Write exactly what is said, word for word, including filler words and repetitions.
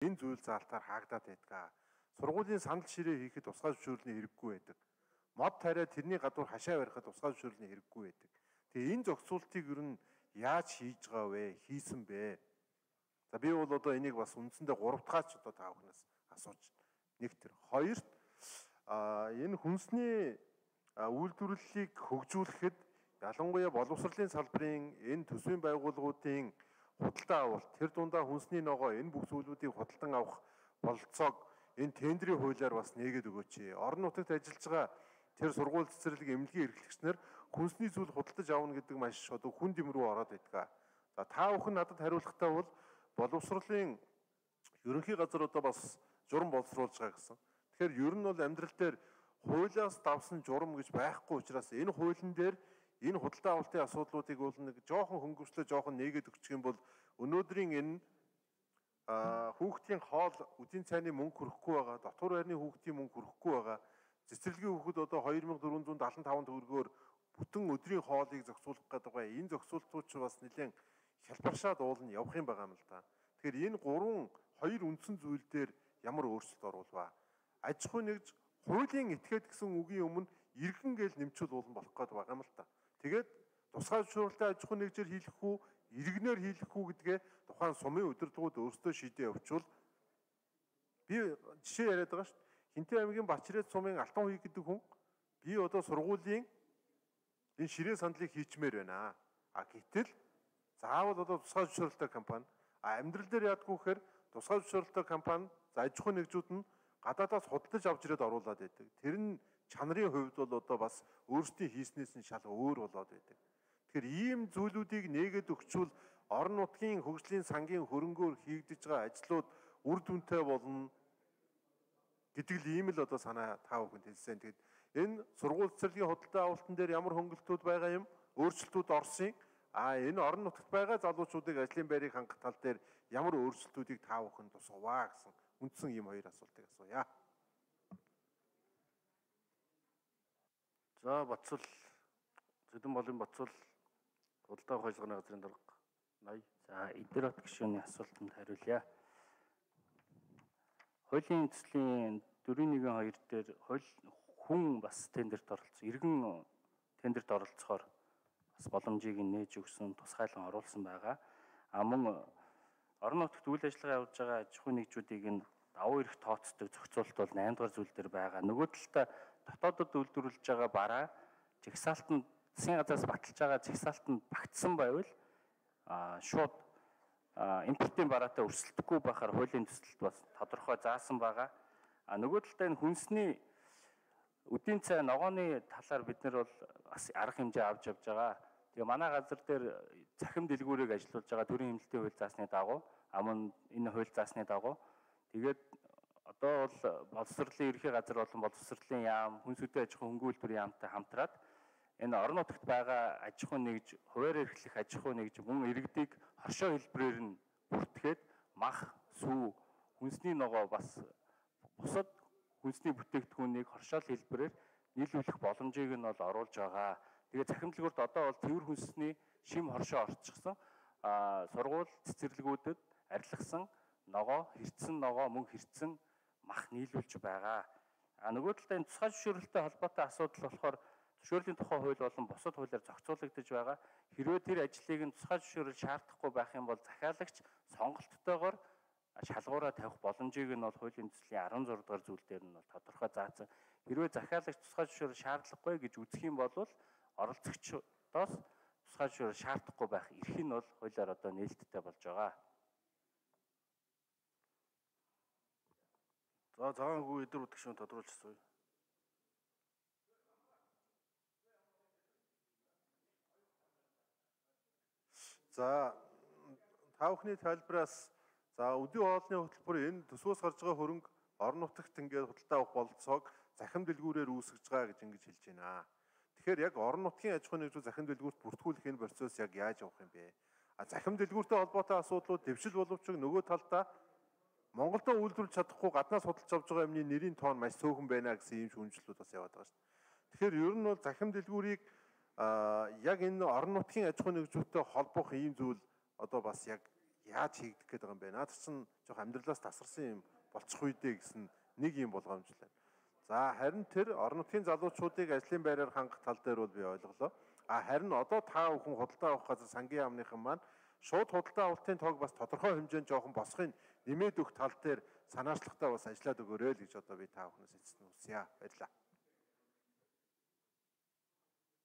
энэ зүйл заалтаар хаагдаад байдаг. Сургуулийн санал ширээ хийхэд тусгай зөвшөөрлийн хэрэггүй байдаг. Мод тариа тэрний гадуур хашаа барихад тусгай зөвшөөрлийн хэрэггүй байдаг. Тэгээ энэ зохицуултыг ер нь яаж хийж байгаа вэ? Хийсэн бэ? За би бол одоо энийг бас үндсэндээ гурав дахь ч одоо та бүхнээс асууж нэг тэр. Хоёрт а энэ хүнсний үйлдвэрлэлийг хөгжүүлэхэд ялангуяа боловсролын салбарын энэ төсвийн байгууллагуудын худалдаа авалт, тэр дундаа хүнсний ногоо, энэ бүх зүйлүүдийг худалдан авах бололцоог энэ тендерийн хуулиар бас нээгээд өгөөч. Орон нутагт ажиллаж байгаа тэр сургууль цэцэрлэг эмнэлгийн эрхлэгчнэр хүнсний зүйл худалдаж авна гэдэг маш одоо хүн дэм рүү ороод байдаг. За та бүхэн надад хариулахдаа бол боловсролын ерөнхий газар одоо бас журам боловсруулж байгаа гэсэн. Тэгэхээр ер нь бол амьдрал дээр хуулиас давсан журам гэж байхгүй учраас энэ хуулийн дээр энэ худалдаа авалтын асуудлуудыг бол нэг жоохон хөнгөвчлөө жоохон нээгээд өгчих юм бол өнөөдрийн энэ хүүхдийн хоол үдийн цайны мөнгө хүрэхгүй байгаа, дотор байрны хүүхдийн мөнгө хүрэхгүй байгаа. Цэцэрлэгийн хүүхэд одоо хоёр мянга дөрвөн зуун даатан таван төгрөгөөр бүтэн өдрийн хоолыг зохицуулах гэдэг байгаа. Энэ зохицуултууд ч бас нэлээд хялбаршаад уулна явах юм байгаа юм л да. Тэгэхээр энэ гурван хоёр үндсэн зүйл дээр ямар өөрчлөлт оруулва? Аж ахуй нэгж хуулийн этгээд гэсэн үгийн өмнө иргэн гээл нэмчүүл уулан болох гээд байгаа юм л та. Тэгээд тусгай зөвшөөрөлтэй аж ахуй нэгжээр хийх үү, иргэнээр хийх үү гэдгээ тухайн сумын удирдлагууд өөрсдөө шийдээ явуучвал би жишээ яриад байгаа шүү дээ. Хинтээ аймгийн Бачрээд сумын Алтан хуй гэдэг хүн би одоо сургуулийн энэ ширээ сандлыг хийчмээр байна. А гэтэл заавал одоо тусгай зөвшөөрөлтэй компани а амьдрал дээр яадгүй гэхээр тусгай зөвшөөрөлтэй компани за аж ахуй нэгжүүд нь гадаадаас худалдаж авч ирээд оруулаад байдаг. Тэр нь чанарын хувьд бол одоо бас өөрсдийн хийснээс нь шал өөр болоод байдаг. Тэгэхээр ийм зүйлүүдийг нээгээд өгчвөл орон нутгийн хөгжлийн сангийн хөрөнгөөр хийгдэж байгаа ажлууд үр дүнтэй болно гэдэг л ийм л одоо санаа та бүхэнд хэлсэн. Тэгэд энэ сургууль цэцэрлэгийн худалдаа авалтан дээр ямар хөнгөлтүүд байгаа юм, өөрчлөлтүүд орсон. А энэ орон нутагт байгаа залуучуудыг ажлын байрыг хангах тал дээр ямар өөрчлөлтүүдийг та бүхэн тусгаваа гэсэн үндсэн ийм хоёр асуултыг асууя. За Батцал Зэдэн болын Батцал худалдаа авах ажиллагааны газрын дарга ноён. За Идэрот гишүүний асуултанд хариулъя. Хуулийн эзэслийн дөрвөн нэгэн хоёр дээр хууль хүн бас тендерт оролцсон. Иргэн тендерт оролцохоор бас боломжийг нээж өгсөн, тусгайлан оруулсан байгаа. А мөн орон нутагт үйл ажиллагаа явуулж байгаа аж ахуй нэгжүүдийг энэ давуу эрх тооцдог зохицуулалт бол наймд дугаар зүйл дээр байгаа. Нөгөө талдаа дотоодод үйлдвэрлэж байгаа бараа жигсаалтанд засгийн газраас баталж байгаа жигсаалтанд багтсан байвал а шууд импортын бараатай өрсөлдөхгүй байхаар хуулийн төсөлд бас тодорхой заасан байгаа. А нөгөө талдаа энэ хүнсний үдийн цай ногооны талаар бид нар бол бас арга хэмжээ авч явж байгаа. Тэгээ манай газар дээр цахим дэлгүүрийг ажиллуулж байгаа төрийн хэмнэлтийн хууль заасны дагуу амун энэ хууль заасны дагуу тэгээд одоо бол боловсролын ерхий газар болон боловсролын яам, хүнс үдийн аж ахуй хөнгөн үйлдвэрийн яамтай хамтраад энэ орон нутагт байгаа аж ахуй нэгж, хуваар эрхлэх аж ахуй нэгж мөн иргэдийг хоршоо хэлбэрээр нь бүртгээд мах, сүү, хүнсний ногоо бас бусад хүнсний бүтээгдэхүүнийг хоршоол хэлбэрээр нийлүүлэх боломжийг нь бол оруулж байгаа. Тэгээ цахим дэлгүүрт одоо бол цэвэр хүнсний шим хоршоо орчихсон. А сургууль цэцэрлэгүүдэд арилгасан ногоо, хэрцэн ногоо, мөн хэрцэн мах нийлүүлж байгаа. А нөгөө талдаа энэ тусгай зөвшөөрөлтэй холбоотой асуудал болохоор зөвшөөрлийн тухай хууль болон бусад хуулиар зохицуулагдаж байгаа. Хэрвээ тэр ажлыг нь тусгай зөвшөөрөл шаардахгүй байх юм бол захиалагч сонголттойгоор шалгуураа тавих боломжийг нь бол хуулийн төслийн арван зураг дугаар зүйл дээр нь бол тодорхой заасан. Хэрвээ захиалагч тусгай зөвшөөрөл шаардлагагүй гэж үзэх юм бол оролцогчдоос тусгай зөвшөөрөл шаардахгүй байх эрх нь бол хуулиар одоо нээлттэй болж байгаа. За цагаангүй эдэр үтгшүүн тодруулж асууя. За та бүхний тайлбараас за өдөө хоолны хөтөлбөр энэ төсвөөс гарч байгаа хөрөнгө орон нутагт ингээд худалдаа авах бололцоог захим дэлгүүрээр үүсгэж байгаа гэж ингэж хэлж байна. Тэгэхээр яг орон нутгийн аж ахуй нэгжүүд захим дэлгүүрт бүртгүүлэх энэ процесс яг яаж явах юм бэ? А захим дэлгүүртэй холбоотой асуудлууд дэвшил боловч нөгөө талдаа Монголдо үйлдвэрлэж чадахгүй гаднаас худалдаж авч байгаа юмны нэрийн тоон маш цөөхөн байна гэсэн ийм шүүмжлэлүүд бас яваад байгаа шүү дээ. Тэгэхээр ер нь бол захим дэлгүүрийг яг энэ орон нутгийн аж ахуй нэгжүүдтэй холбох ийм зүйл одоо бас яг яаж хийгдэх гээд байгаа юм бэ? Наад чинь жоох амьдралаас тасарсан юм болчих үедээ гэсэн нэг юм болгоомжлаа. За харин тэр орон нутгийн залуучуудыг ажлын байраар хангах тал дээр бол би ойлголоо. А харин одоо та бүхэн худалдаа авах газар сангийн яамныхан маань шууд худалдаа авалтын тоог бас тодорхой хэмжээнд жоохон босхын нэмээд өгөх тал дээр санаачлагтай бас ажиллаад өгөөрэй л гэж одоо би та бүхнээс эцэст нь хүсье. Баярлалаа.